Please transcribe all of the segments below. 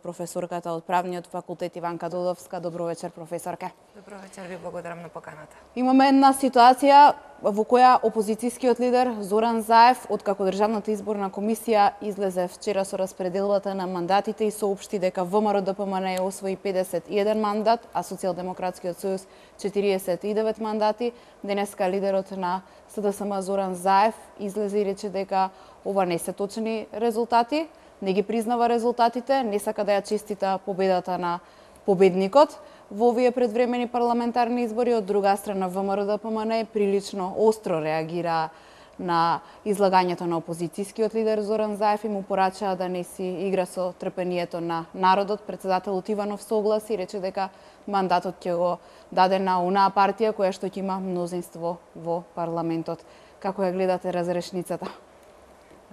Професорката од Правниот факултет Иванка Додовска. Добро вечер, професорке. Добро вечер, ви благодарам на поканата. Имаме една ситуација во која опозицијскиот лидер Зоран Заев, откако Државната изборна комисија излезе вчера со распределбата на мандатите и соопшти дека ВМРО-ДПМН освои 51 мандат, а Социјалдемократскиот сојуз 49 мандати, денеска лидерот на СДСМ Зоран Заев излезе и рече дека ова не се точни резултати, не ги признава резултатите, не сака да ја честита победата на победникот во овие предвремени парламентарни избори. Од друга страна, ВМРО-ДПМН прилично остро реагира на излагањето на опозицијскиот лидер Зоран Заев и му порачаа да не си игра со трпението на народот. Председателот Иванов согласи и рече дека мандатот ќе го даде на онаа партија која што ќе има мнозинство во парламентот. Како ја гледате разрешницата?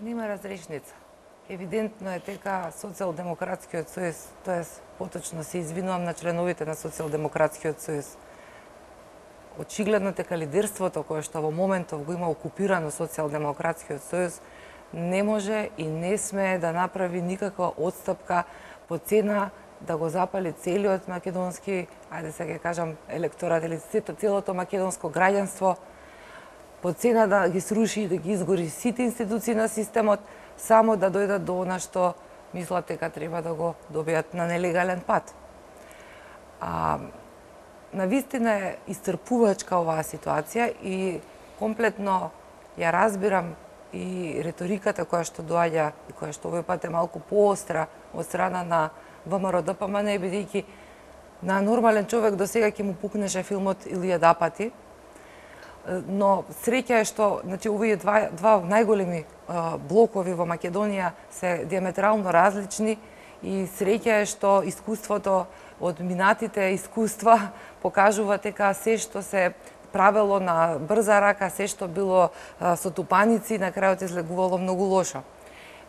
Нема разрешница. Евидентно е дека Социјалдемократскиот сојуз, тоест поточно се извинувам на членовите на Социјалдемократскиот сојуз, очигледно дека лидерството кое што во моментов го има окупирано Социјалдемократскиот сојуз не може и не смее да направи никаква отстапка по цена да го запали целиот македонски, ајде сега ќе кажам, електорат или целото македонско граѓанство, по цена да ги сруши и да ги изгори сите институции на системот, само да дојдат до она што мислат дека треба да го добијат на нелегален пат. Навистина е исцрпувачка оваа ситуација и комплетно ја разбирам и реториката која што доаѓа и која што овој пат е малку поостра од страна на ВМРО-ДПМН, бидејќи на нормален човек до сега ќе му пукнеше филмот Илија Дапати, но среќа е што овие два најголеми блокови во Македонија се диаметрално различни и среќа е што искуството од минатите искуства покажува дека се што се правело на брза рака, се што било со тупаници, на крајот излегувало многу лошо.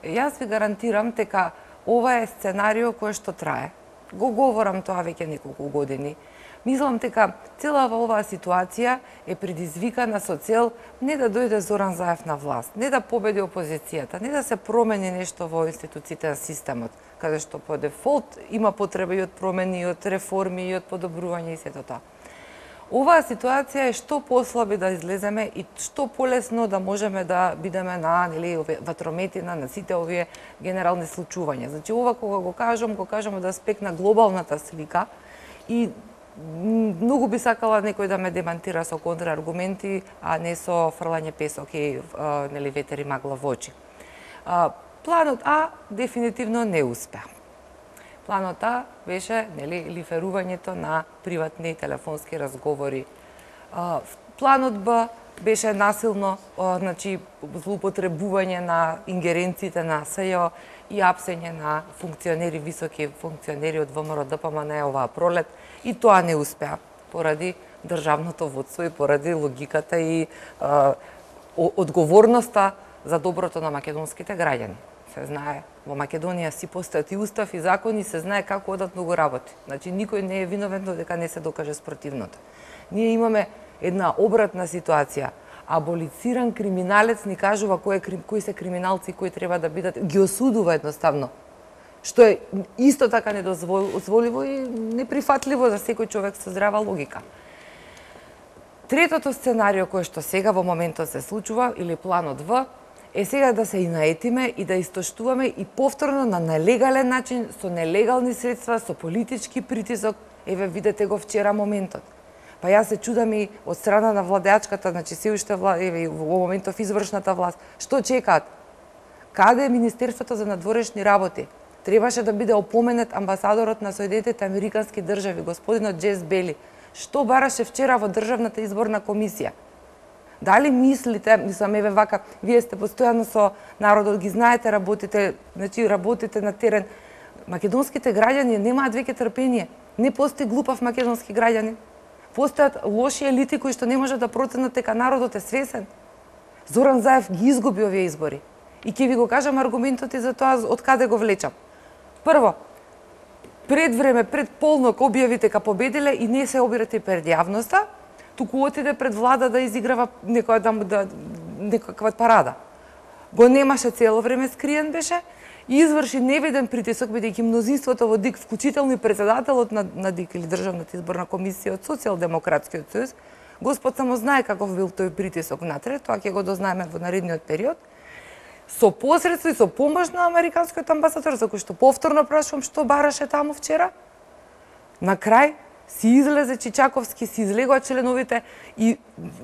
Јас ви гарантирам дека ова е сценарио кое што трае. Го говорам тоа веќе неколку години. Мислам дека целава оваа ситуација е предизвикана со цел не да дојде Зоран Заев на власт, не да победи опозицијата, не да се промени нешто во институциите на системот, каде што по дефолт има потреба и од промени, и од реформи, и од подобрување и сето тоа. Оваа ситуација е што послаби да излеземе и што полесно да можеме да бидеме на ватрометина на сите овие генерални случувања. Значи, ова кога го кажам од аспект на глобалната слика и многу би сакала некој да ме демантира со контрааргументи, а не со фрлање песок и ветер и магла во очи. Планот А дефинитивно не успеа. Планот А беше лиферувањето на приватни телефонски разговори. Планот Б беше насилно, злоупотребување на ингеренциите на СЈО и апсење на функционери, високи функционери од ВМРО-ДПМН оваа пролет, и тоа не успеа поради државното водство и поради логиката и одговорноста за доброто на македонските граѓани. Се знае, во Македонија си постојат и устав и закони, се знае како одатно го работи. Значи, никој не е виновен додека не се докаже спротивното. Ние имаме една обратна ситуација. Аболициран криминалец ни кажува кои се криминалци кои треба да бидат, ги осудува едноставно. Што е исто така недозволиво и неприфатливо за секој човек со здрава логика. Третото сценарио кое што сега во моментот се случува, или планот В, е сега да се наетиме и да истоштуваме и повторно на нелегален начин, со нелегални средства, со политички притисок. Еве, видете го вчера моментот. Па јас се чудам и од страна на владеачката, значи се уште во моментов извршната власт, што чекаат? Каде е Министерството за надворешни работи? Требаше да биде опоменет амбасадорот на Соединетите Американски држави, господинот Джес Бели. Што бараше вчера во Државната изборна комисија? Дали мислите, мислам, еве вака, вие сте постојано со народот, ги знаете, работите на терен. Македонските граѓани немаат веќе трпение. Не постои глупав македонски граѓанин. Постојат лоши елити кои што не можат да проценат дека народот е свесен. Зоран Заев ги изгуби овие избори. И ќе ви го кажам аргументот и за тоа од каде го влечам. Прво, пред време, пред полнок објави дека победиле и не се обирате пред јавноста, туку отиде пред влада да изиграва некаква парада. Го немаше цело време скриен беше и изврши невиден притисок, бидејќи мнозинството во ДИК, вклучително и председателот на ДИК или Државната изборна комисија од Социјалдемократскиот сојуз, Господ само знае каков бил тој притисок внатре, тоа ќе го дознаеме во наредниот период, со посредство и со помош на американскиот амбасадор, за кој што повторно прашувам што бараше таму вчера, на крај си излезе Чичаковски, си излегоа членовите и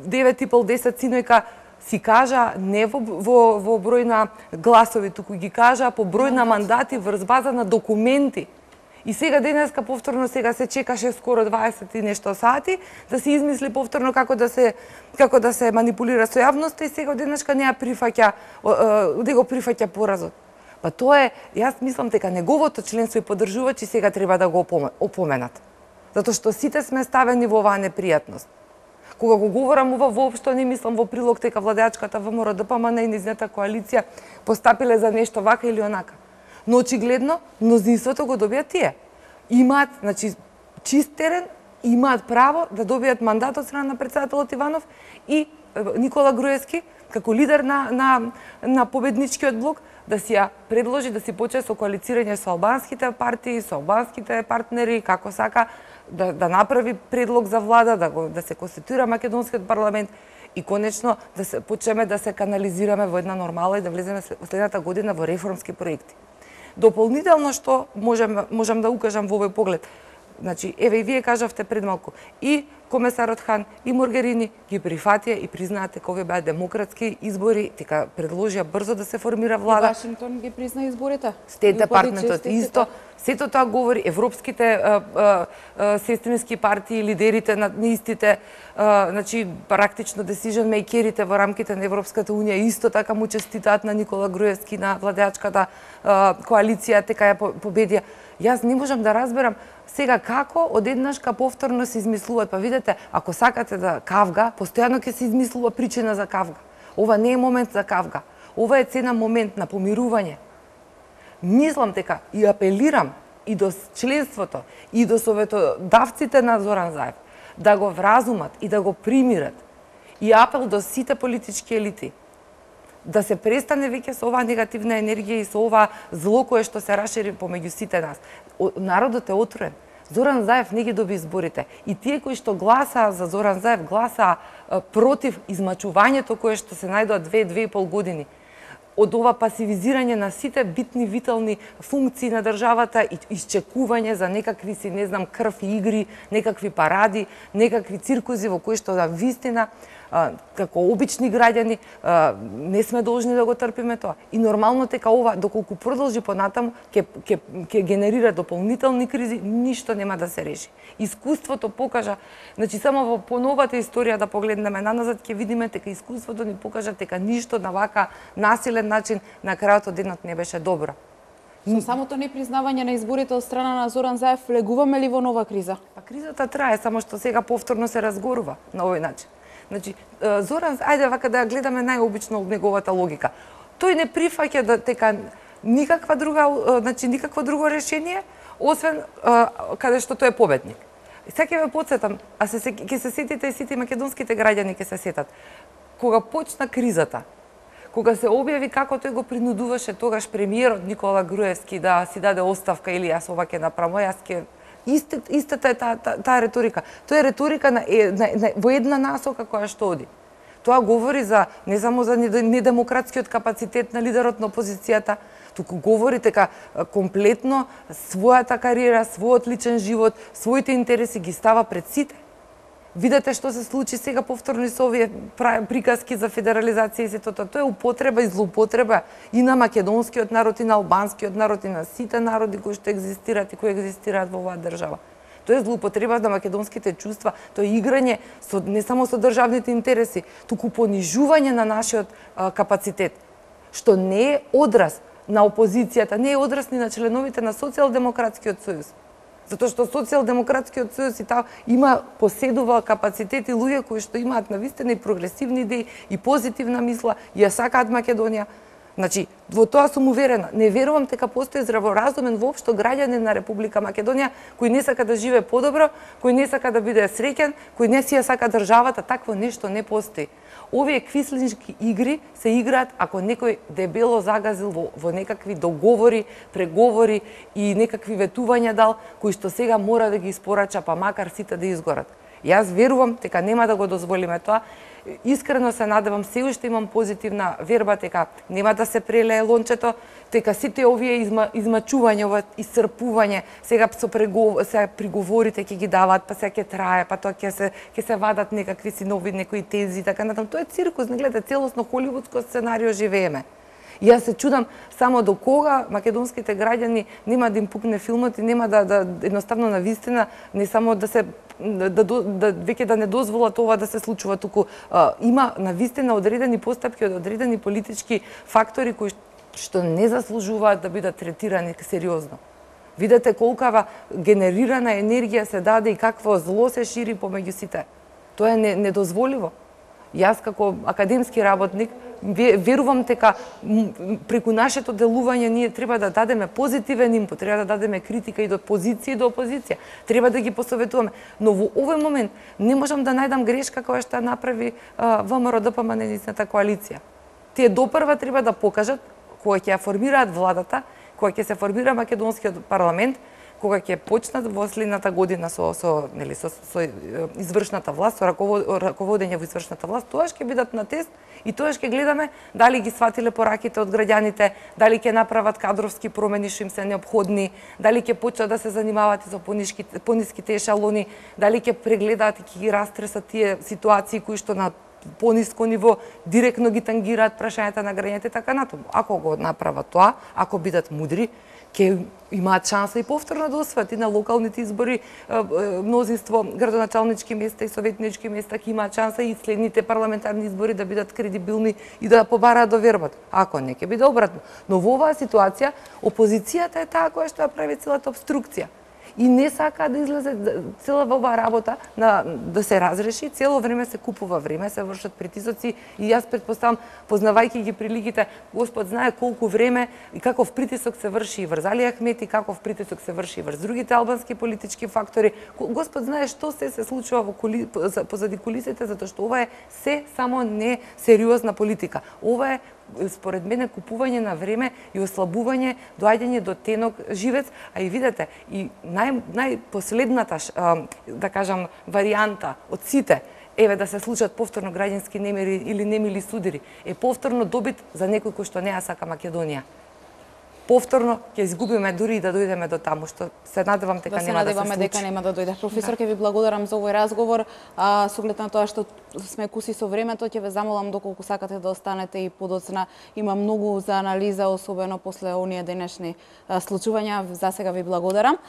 9,5-10 синојка си кажа не во број на гласови, туку ги кажа по број на мандати врз база на документи. И сега денеска повторно сега се чекаше скоро 20 и нешто сати да се измисли повторно како да се манипулира со јавноста и сега денеска не ја прифаќа, да го прифаќа поразот. Па тоа е, јас мислам дека неговото членство и поддржувачи сега треба да го опоменат. Затоа што сите сме ставени во оваа непријатност. Кога го говорам ова, воопшто не мислам во прилог дека владеачката ВМРО ДПМН и низната коалиција постапиле за нешто вака или онака. Но очигледно мнозинството го добијат тие. Имаат, значи, чист терен, имаат право да добијат мандат од страна на председателот Иванов и Никола Груевски како лидер на победничкиот блок да си ја предложи да си почне со коалицирање со албанските партии, со албанските партнери, како сака да направи предлог за влада, да се конституира македонскиот парламент и конечно да се почнеме да се канализираме во една нормала и да влеземе следната година во реформски проекти. Дополнително што можам да укажам во овој поглед. Значи, еве и вие кажавте пред малку, и комесарот Хан, и Моргерини ги прифатија и признаат дека овие беа демократски избори, дека предложија брзо да се формира влада. И Вашингтон ги призна изборите. Стейт департментот исто. Сето тоа говори, европските сестрински партии, лидерите на истите, значи практично decision makerите во рамките на Европската унија исто така му честитаат на Никола Груевски, на владеачката коалиција, дека ја победија. Јас не можам да разберам сега како одеднашка повторно се измислуваат. Па видете, ако сакате да кавга, постојано ќе се измислува причина за кавга. Ова не е момент за кавга. Ова е цена момент на помирување. Мислам дека и апелирам и до членството, и до советодавците на Зоран Заев да го вразумат и да го примират. И апел до сите политички елити да се престане веќе со оваа негативна енергија и со ова зло кое што се рашири помеѓу сите нас. Народот е отворен. Зоран Заев не ги доби изборите. И тие кои што гласаа за Зоран Заев гласаа против измачувањето кое што се најдоа 2,5 години од ова пасивизирање на сите битни витални функции на државата и исчекување за некакви си, не знам, крв и игри, некакви паради, некакви циркузи во кои што вистина како обични граѓани не сме должни да го трпиме тоа. И нормално дека ова доколку продолжи понатаму ќе генерира дополнителни кризи, ништо нема да се реши. Искуството покажа, значи само во поновата историја да погледнеме наназад ќе видиме дека искуството ни покажа дека ништо на вака насилен начин на крајот од денот не беше добро. Со самото непризнавање на изборите од страна на Зоран Заев влегуваме ли во нова криза? Па кризата трае, само што сега повторно се разгорува на овој начин. Значи, Зоран, ајде вака да гледаме најобично од неговата логика. Тој не прифаќа дека никакво друго решение, освен каде што тој е победник. И сега ќе ве потсетам, ќе се сетите и сите македонските граѓани ќе се сетат. Кога почна кризата, кога се објави како тој го принудуваше тогаш премиерот Никола Груевски да си даде оставка или јас ова ќе направам, јас ќе истата е таа реторика. Тоа е реторика во една насока која што оди. Тоа говори за не само за недемократскиот капацитет на лидерот на опозицијата, туку говори дека комплетно својата кариера, својот личен живот, своите интереси ги става пред сите. Видете што се случи сега повторно со овие приказки за федерализација и сето тоа. Тоа е употреба и злоупотреба и на македонскиот народ, и на албанскиот народ, и на сите народи кои што екзистираат и кои екзистираат во оваа држава. Тоа е злоупотреба на македонските чувства, тоа е играње не само со државните интереси, туку понижување на нашиот капацитет, што не е одраз на опозицијата, не е одраз ни на членовите на Социјалдемократскиот сојуз. Затоа што Социјалдемократскиот сојуз поседува капацитет и луѓе кои што имаат навистина и прогресивни идеи и позитивна мисла, и ја сакаат Македонија. Значи, во тоа сум уверена. Не верувам дека постои здраворазумен воопшто граѓанин на Република Македонија кој не сака да живее подобро, кој не сака да биде среќен, кој не си ја сака државата, такво нешто не постои. Овие квислиншки игри се играат ако некој дебело загазил во некакви договори, преговори и некакви ветувања дал, кои што сега мора да ги испорача, па макар сите да изгорат. Јас верувам дека нема да го дозволиме тоа. Искрено се надевам, се уште имам позитивна верба дека нема да се прелее лончето, дека сите овие измачување, ова исцрпување, сега се приговорите ќе ги даваат, па сега ќе трае, па тоа ќе се вадат некакви си нови некои тези, така натаму. Тоа е циркус, не гледате, целосно холивудско сценарио живееме. И јас се чудам само до кога македонските граѓани нема да им пукне филмот и нема да едноставно на вистина не само да се веќе да не дозволат ова да се случува, туку има на вистина одредени постапки од одредени политички фактори кои што не заслужуваат да бидат третирани сериозно. Видете колкава генерирана енергија се даде и какво зло се шири помеѓу сите. Тоа е недозволиво. Јас како академски работник верувам дека преку нашето делување ние треба да дадеме позитивен импут, треба да дадеме критика и до позиција и до опозиција. Треба да ги посоветуваме. Но во овој момент не можам да најдам грешка која што направи ВМРО ДПМН-ната коалиција. Тие допрва треба да покажат кога ќе ја формираат владата, кога ќе се формира македонскиот парламент, кога ќе почнат во следната година со извршната власт, со раководење во извршната власт, тоаш ќе бидат на тест и тоаш ќе гледаме дали ги сватиле пораките од граѓаните, дали ќе направат кадровски промени што им се неопходни, дали ќе почнат да се занимаваат и со пониските ешалони, дали ќе прегледаат и ќе ги растресат тие ситуации кои што на пониско ниво директно ги тангираат прашањата на граѓаните, така натаму. Ако го направат тоа, ако бидат мудри, ќе имаат шанса и повторно да освојат и на локалните избори мнозинство градоначалнички места и советнички места, ќе имаат шанса и следните парламентарни избори да бидат кредибилни и да побараат довербата. Ако не, ќе биде обратно. Но во оваа ситуација опозицијата е таа која што ја прави целата обструкција. И не сака да излезе цела оваа работа да се разреши, цело време се купува време, се вршат притисоци и јас претпоставам, познавајќи ги приликите, Господ знае колку време и каков притисок се врши и врз Али Ахмети, каков притисок се врши и врз другите албански политички фактори. Господ знае што се случува позади кулисите, затоа што ова е се само не сериозна политика. Ова е според мене купување на време и ослабување, доаѓање до тенок живец, а и видете, и најпоследната, да кажам, варијанта од сите, еве да се случат повторно граѓански немири или немили судири, е повторно добит за некој кој што не ја сака Македонија. Повторно ќе изгубиме дури и да дојдеме до таму, што се надевам дека нема да се случи. Дека нема да дојде. Професор, ќе ви благодарам за овој разговор. Со оглед на тоа што сме куси со времето, ќе ве замолам доколку сакате да останете и подоцна. Има многу за анализа, особено после оние денешни случувања. За сега ви благодарам.